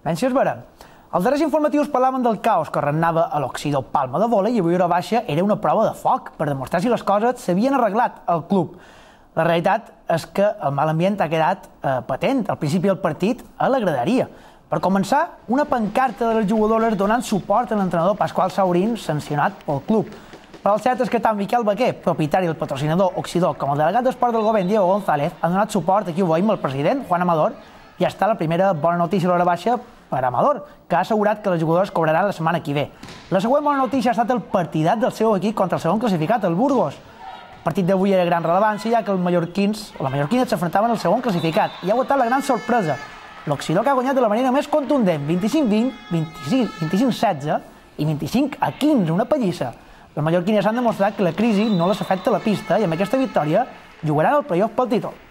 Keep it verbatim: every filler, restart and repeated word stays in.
Menys es vera. Els darrers informatius parlaven del caos que regnava a l'Oxidó Palma de Vola i avui hora baixa era una prova de foc per demostrar si les coses s'havien arreglat al club. La realitat és que el mal ambient ha quedat eh, patent al principi del partit a la graderia. Per començar, una pancarta de les jugadores donant suport a l'entrenador Pasqual Saurín sancionat pel club. Però el cert és que tant Miquel Baquer, propietari del patrocinador Oxidó, com el delegat d'esport del govern Diego González han donat suport, aquí ho veiem, al president, Juan Amador, i ja està la primera bona notícia a l'hora baixa per Amador, que ha assegurat que les jugadores cobraran la setmana que ve. La següent bona notícia ha estat el partidat del seu equip contra el segon classificat, el Burgos. El partit d'avui era de gran rellevància, ja que els mallorquins, la mallorquina s'enfrontaven al segon classificat, i ha aguantat la gran sorpresa. L'Oxidó que ha guanyat de la manera més contundent, vint-i-cinc vint, vint-i-cinc setze i vint-i-cinc a quinze, una pallissa. Les mallorquines han demostrat que la crisi no les afecta a la pista i amb aquesta victòria jugaran el playoff pel títol.